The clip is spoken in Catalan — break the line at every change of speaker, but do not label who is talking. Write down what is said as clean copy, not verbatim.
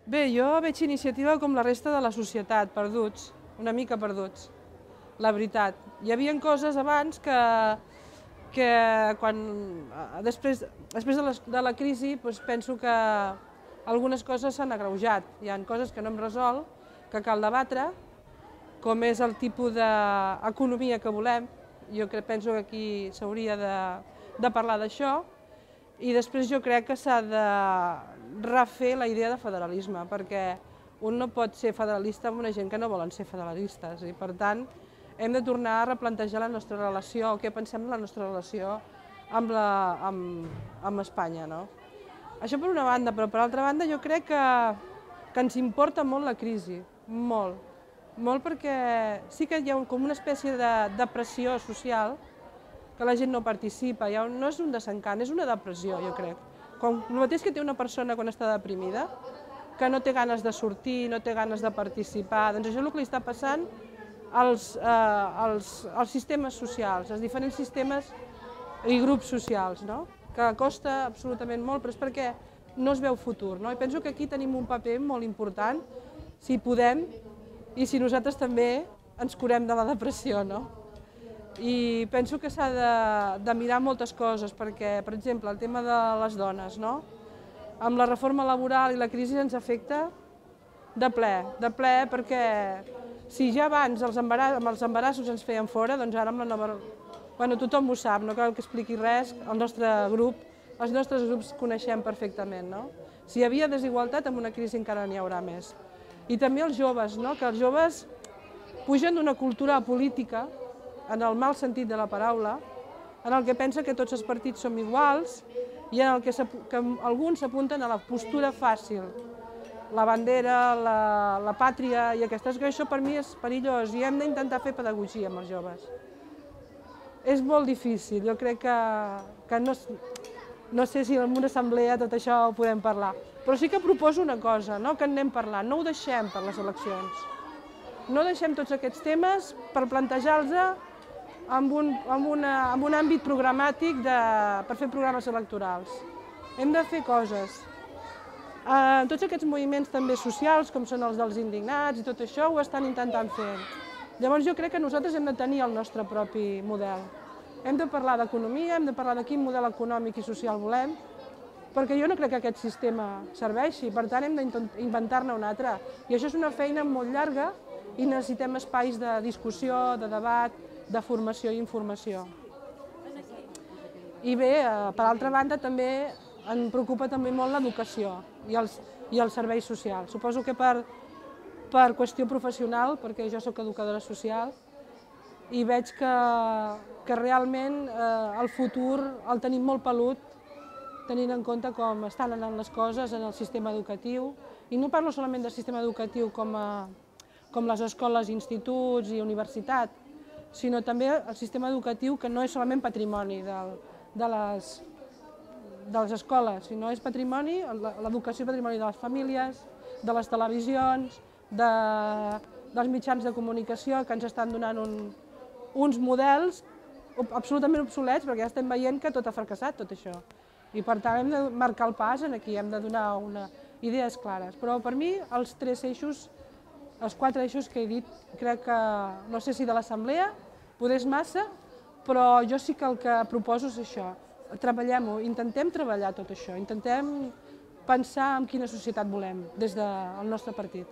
Bé, jo veig iniciativa com la resta de la societat, perduts, una mica perduts, la veritat. Hi havia coses abans que després de la crisi penso que algunes coses s'han agreujat. Hi ha coses que no hem resolt, que cal debatre, com és el tipus d'economia que volem. Jo penso que aquí s'hauria de parlar d'això. I després jo crec que s'ha de refer la idea de federalisme, perquè un no pot ser federalista amb una gent que no volen ser federalistes. I per tant, hem de tornar a replantejar la nostra relació, o què pensem de la nostra relació amb Espanya. Això per una banda, però per altra banda jo crec que ens importa molt la crisi, molt. Molt perquè sí que hi ha com una espècie de depressió social, que la gent no participa, no és un desencant, és una depressió, jo crec. El mateix que té una persona quan està deprimida, que no té ganes de sortir, no té ganes de participar, doncs això és el que li està passant als sistemes socials, als diferents sistemes i grups socials, que costa absolutament molt, però és perquè no es veu futur. I penso que aquí tenim un paper molt important, si podem, i si nosaltres també ens curem de la depressió. I penso que s'ha de mirar moltes coses, perquè, per exemple, el tema de les dones, amb la reforma laboral i la crisi ens afecta de ple, perquè si ja abans amb els embarassos ens feien fora, doncs ara amb la nova... Bueno, tothom ho sap, no cal que expliqui res, els nostres grups coneixem perfectament. Si hi havia desigualtat, amb una crisi encara n'hi haurà més. I també els joves, que els joves pugen d'una cultura política, en el mal sentit de la paraula, en el que pensa que tots els partits som iguals i en el que alguns s'apunten a la postura fàcil, la bandera, la pàtria i aquestes coses. Això per mi és perillós i hem d'intentar fer pedagogia amb els joves. És molt difícil, jo crec que no sé si en una assemblea tot això ho podem parlar, però sí que proposo una cosa, que en anem parlant, no ho deixem per les eleccions. No deixem tots aquests temes per plantejar-los amb un àmbit programàtic per fer programes electorals. Hem de fer coses. Tots aquests moviments també socials, com són els dels indignats i tot això, ho estan intentant fer. Llavors jo crec que nosaltres hem de tenir el nostre propi model. Hem de parlar d'economia, hem de parlar de quin model econòmic i social volem, perquè jo no crec que aquest sistema serveixi, per tant hem d'inventar-ne un altre. I això és una feina molt llarga i necessitem espais de discussió, de debat, de formació i informació. I bé, per altra banda, també em preocupa també molt l'educació i els serveis socials. Suposo que per qüestió professional, perquè jo soc educadora social, i veig que realment el futur el tenim molt pelut, tenint en compte com estan anant les coses en el sistema educatiu. I no parlo solament del sistema educatiu com les escoles, instituts i universitats, sinó també el sistema educatiu que no és solament patrimoni de les escoles, sinó és patrimoni, l'educació és patrimoni de les famílies, de les televisions, dels mitjans de comunicació que ens estan donant uns models absolutament obsolets, perquè ja estem veient que tot ha fracassat, tot això. I per tant hem de marcar el pas aquí, hem de donar idees clares. Però per mi els 3 eixos, els 4 eixos que he dit, crec que, no sé si de l'assemblea, poder és massa, però jo sí que el que proposo és això. Treballem-ho, intentem treballar tot això, intentem pensar en quina societat volem des del nostre partit.